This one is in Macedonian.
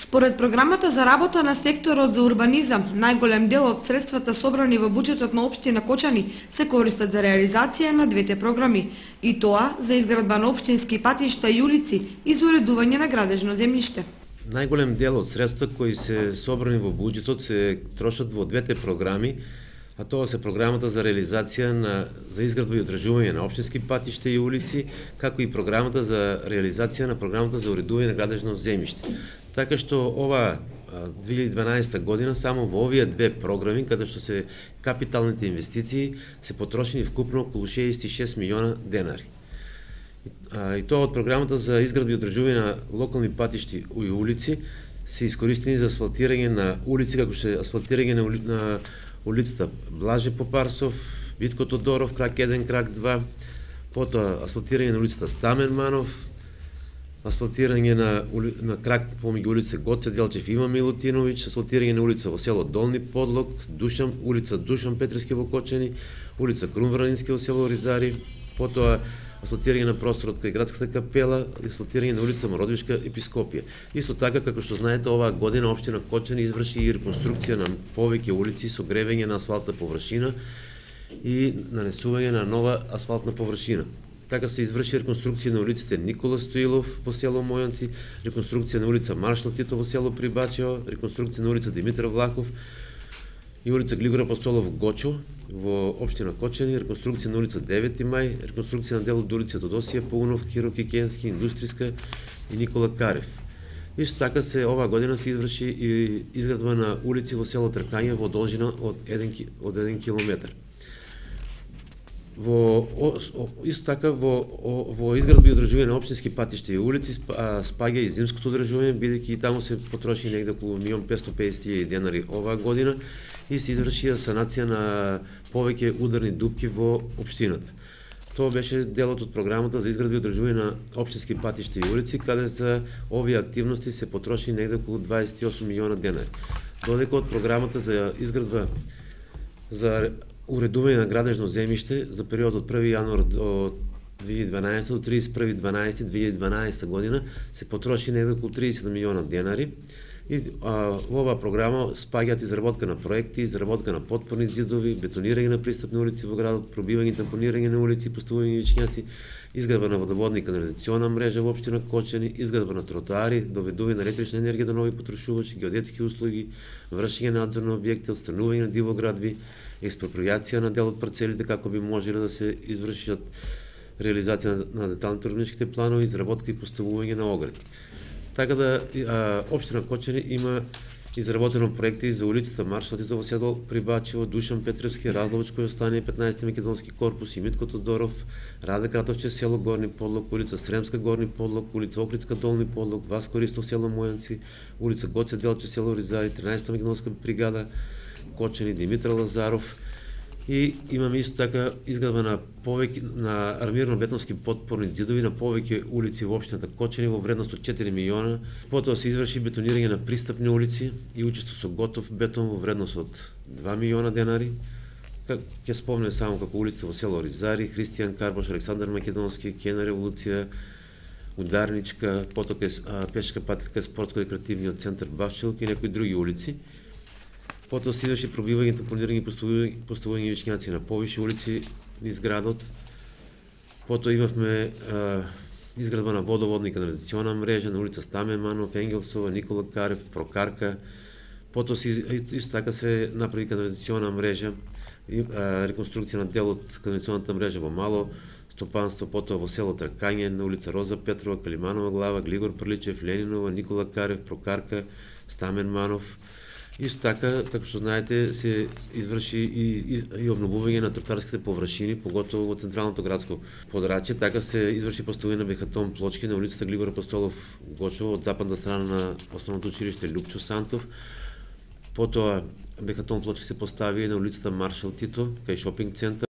Според програмата за работа на секторот за урбанизам, најголем дел од средствата собрани во буџетот на општина Кочани се користат за реализација на двете програми, и тоа за изградба на општински патишта и улици и за уредување на градежно земјиште. Најголем дел од средства кои се собрани во буџетот се трошат во двете програми, а тоа се програмата за реализација за изградба и одржување на општински патишта и улици, како и програмата за реализација на програмата за уредување на градежно земјиште. Така што ова 2012 година само во овие две програми, каде што се капиталните инвестиции, се потрошени вкупно околу 66 милиона денари. И тоа од програмата за изградба и одржување на локални патишти и улици се искористени за асфалтирање на улици, како што е асфалтирање на улицата Блаже Попарсов, Витко Тодоров, крак 1, крак 2, потоа асфалтирање на улицата Стамен Манов, асфалтирање на крак помеѓу улица Гоце Делчев Има Милутиновиќ, асфалтирање на улица во село Долни Подлог, улица Душан Петрески во Кочани, улица Крумвранински во село Ризари, потоа асфалтирање на просторот кај градската капела, асфалтирање на улица Мородвишка Епископија. Исто така, како што знаете, оваа година општина Кочани изврши и реконструкција на повеќе улици со гревење на асфалтна површина и нанесување на нова асфалтна површина. Така се изврши реконструкција на улиците Никола Стоилов во село Мојанци, реконструкција на улица Маршал Тито во село Прибачево, реконструкција на улица Димитар Влахов и улица Глигор Апостолов Гочо во општина Кочани, реконструкција на улица 9 мај, реконструкција на дел од улица Тодосија Паунов, Киро Кикенски, Индустријска и Никола Карев. Исто така оваа година се изврши и изградба на улици во село Тркање во должина од 1 километар. Исто така во изградба и одржување на општински патишта и улици спаѓа и зимското одржување, бидејќи и таму се потроши негде околу 1.550.000 денари оваа година и се изврши санација на повеќе ударни дупки во општината. Тоа беше делот од програмата за изградба и одржување на општински патишта и улици, каде за овие активности се потроши негде околу 28 милиона денари. Додека од програмата за изградба за уредување на градежно земјиште за период од 1 јануар до 2012 до 31.12.2012 година се потроши негде околу 30 милиона денари. И во оваа програма спаѓаат изработка на проекти, изработка на потпорни ѕидови, бетонирање на пристапни улици во градот, пробивање и тампонирање на улици, поставување вичњаци, изградба на водоводна и канализациона мрежа во општина Кочани, изградба на тротоари, доведување на електрична енергија до нови потрошувачи, геодетски услуги, вршење надзор на објекти, отстранување на дивоградби, експропријација на дел од парцелите како би можеле да се извршат реализација на деталните урбаничките планови, изработка и поставување на огради. Така да општина Кочани има изработено проекти за улицата Маршал Тито во село Прибачево, Душан Петревски, Разлович кој остане 15 македонски корпус и Митко Тодоров, Раде Кратовче село Горни Подлог, улица Сремска Горни Подлог, улица Охридска Долни Подлог, Васко Ристов село Мојанци, улица Гоце Делче село Ризари, 13 македонска бригада Кочани, Димитар Лазаров. И имаме исто така изградба на армирано-бетонски потпорни ѕидови на повеќе улици во општината Кочани во вредност од 4 милиона. Потоа се изврши бетонирање на пристапни улици и учество со готов бетон во вредност од 2 милиона денари. Ќе спомнем само како улица во село Ризари, Христијан Карбош, Александар Македонски, Кена револуција, Ударничка, потоа пешка патека, спортско-рекреативниот центар Бавчилок и некои други улици. Потоа се изврши пробивање, тампонирање и поставување вичњаци на повише улици низ градот. Потоа имавме изградба на водоводна и канализациона мрежа на улица Стамен Манов, Енгелсова, Никола Карев, Прокарка. Потоа исто така се направи канализациона мрежа, реконструкција на дел од канализационата мрежа во Мало Стопанство, потоа во село Тркање, на улица Роза Петрова, Калиманова глава, Глигор Прличев, Ленинова, Никола Карев, Прокарка, Стамен Манов. Исто така, како што знаете, се изврши и обновување на тротоарските површини, поготово во централното градско подрачје, така се изврши поставување на бехатон плочки на улицата Глигор Апостолов Гочово од западна страна на основното училиште Лупчо Сантов. Потоа бехатон плочки се постави на улицата Маршал Тито, кај шопинг центар.